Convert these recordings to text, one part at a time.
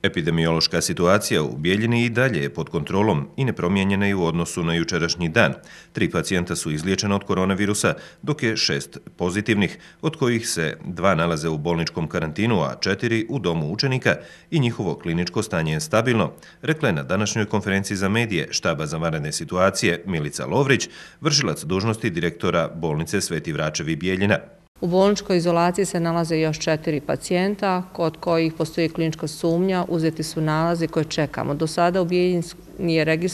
Epidemiološka situacija u Bijeljini i dalje je pod kontrolom i nepromijenjena je u odnosu na jučerašnji dan. 3 pacijenta su izliječena od koronavirusa, dok je 6 pozitivnih, od kojih se 2 nalaze u bolničkom karantinu, a 4 u domu učenika i njihovo kliničko stanje je stabilno, rekla je na današnjoj konferenciji za medije štaba za vanredne situacije Milica Lovrić, vršilac dužnosti direktora bolnice Sveti Vračevi Bijeljina. U bolničkoj izolaciji se nalaze još 4 pacijenta, kod kojih postoji klinička sumnja, uzeti su nalazi koje čekamo. Do sada u Bijeljini je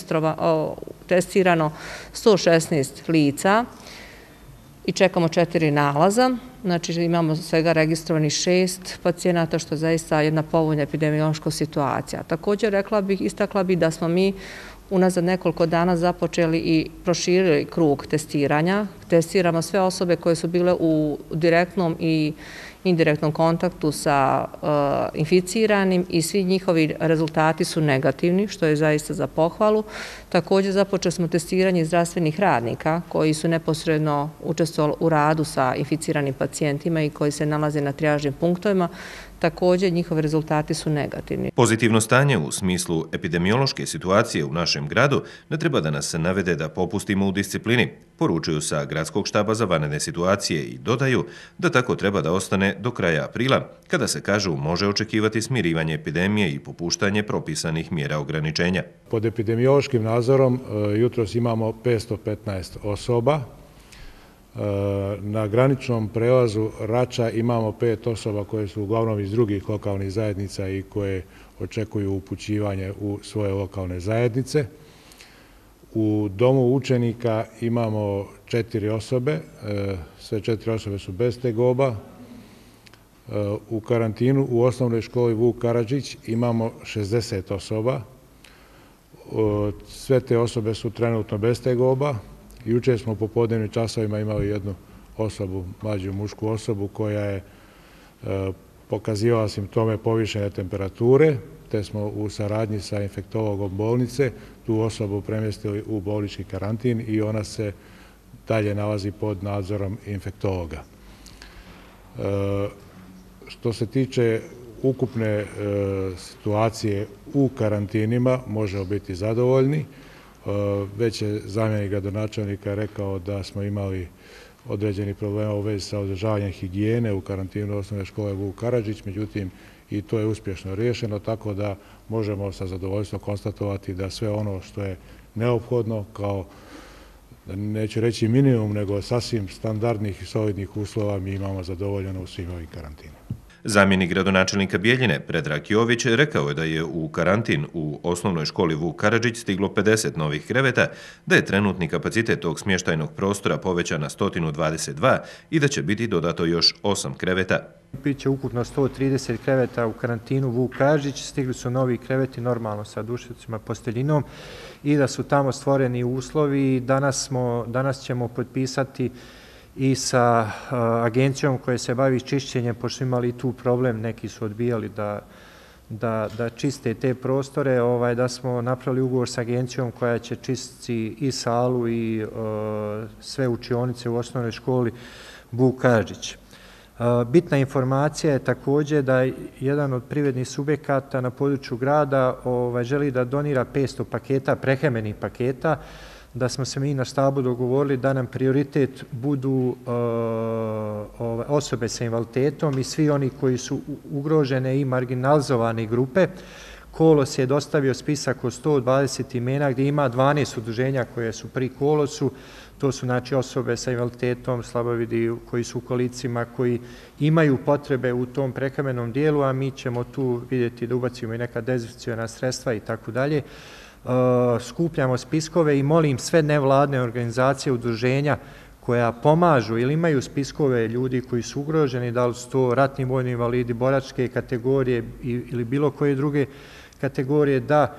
testirano 116 lica i čekamo 4 nalaza. Znači imamo svega registrovanih 6 pacijenata, što je zaista jedna povoljna epidemiološka situacija. Također istakla bih da smo mi unazad nekoliko dana započeli i proširili krug testiranja. Testiramo sve osobe koje su bile u direktnom i indirektnom kontaktu sa inficiranim i svi njihovi rezultati su negativni, što je zaista za pohvalu. Također započeli smo testiranje zdravstvenih radnika koji su neposredno učestvovali u radu sa inficiranim pacijentima i koji se nalaze na trijažnim punktovima. Također njihovi rezultati su negativni. Pozitivno stanje u smislu epidemiološke situacije u našem gradu ne treba da nas navede da popustimo u disciplini, poručuju sa Gradskog štaba za vanredne situacije i dodaju da tako treba da ostane do kraja aprila, kada se kažu može očekivati smirivanje epidemije i popuštanje propisanih mjera ograničenja. Pod epidemiološkim nadzorom jutros imamo 515 osoba. Na graničnom prelazu Rača imamo 5 osoba koje su uglavnom iz drugih lokalnih zajednica i koje očekuju upućivanje u svoje lokalne zajednice. U domu učenika imamo 4 osobe, sve 4 osobe su bez tegoba. U karantinu u osnovnoj školi Vuk Karadžić imamo 60 osoba. Sve te osobe su trenutno bez tegoba. Jučer smo u popodnevnim časovima imali jednu osobu, mlađu mušku osobu, koja je pokazivala simptome povišene temperature, te smo u saradnji sa infektologom bolnice tu osobu premjestili u bolnički karantin i ona se dalje nalazi pod nadzorom infektologa. Što se tiče ukupne situacije u karantinima, možemo biti zadovoljni. Već je zamjenik gradonačelnika rekao da smo imali određeni problema u vezi sa održavanjem higijene u karantinu osnovne škole Vuk Karadžić, međutim i to je uspješno riješeno, tako da možemo sa zadovoljstvom konstatovati da sve ono što je neophodno kao, neću reći minimum, nego sasvim standardnih i solidnih uslova mi imamo zadovoljeno u svim ovim karantinima. Zamjenik gradonačelnika Bijeljine, Predrag Jović, rekao je da je u karantin u osnovnoj školi Vuk Karadžić stiglo 50 novih kreveta, da je trenutni kapacitet tog smještajnog prostora povećan na 122 i da će biti dodato još 8 kreveta. Biće ukupno 130 kreveta u karantinu Vuk Karadžić, stigli su novi kreveti normalno sa dušicima, posteljinom i da su tamo stvoreni uslovi. Danas ćemo potpisati i sa agencijom koja se bavi čišćenjem, pošto imali tu problem, neki su odbijali da čiste te prostore, da smo napravili ugovor sa agencijom koja će čistiti i salu i sve učionice u osnovnoj školi Vuk Karadžić. Bitna informacija je također da jedan od privrednih subjekata na području grada želi da donira 500 paketa, prehrambenih paketa, da smo se mi na štabu dogovorili da nam prioritet budu osobe sa invaliditetom i svi oni koji su ugrožene i marginalizovane grupe. Kolos je dostavio spisak od 120 imena gdje ima 12 udruženja koje su pri Kolosu. To su znači osobe sa invaliditetom, slabovidi koji su u kolicima, koji imaju potrebe u tom prehrambenom dijelu, a mi ćemo tu vidjeti da ubacimo i neka dezinfekciona sredstva i tako dalje. Skupljamo spiskove i molim sve nevladne organizacije, udruženja koja pomažu ili imaju spiskove ljudi koji su ugroženi, da li su to ratni vojni invalidi, boračke kategorije ili bilo koje druge kategorije, da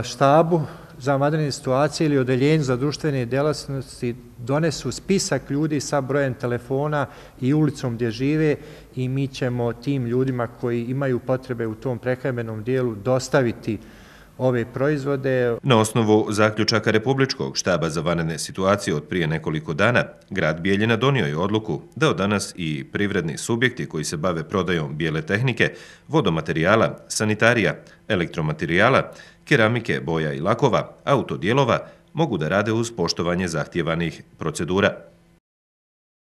štabu za vanredne situacije ili odeljenju za društvene djelatnosti donesu spisak ljudi sa brojem telefona i ulicom gdje žive i mi ćemo tim ljudima koji imaju potrebe u tom prehrambenom dijelu dostaviti ove proizvode. Na osnovu zaključaka Republičkog štaba za vanredne situacije od prije nekoliko dana, grad Bijeljina donio je odluku da od danas i privredni subjekti koji se bave prodajom bijele tehnike, vodomaterijala, sanitarija, elektromaterijala, keramike, boja i lakova, autodijelova, mogu da rade uz poštovanje zahtjevanih procedura.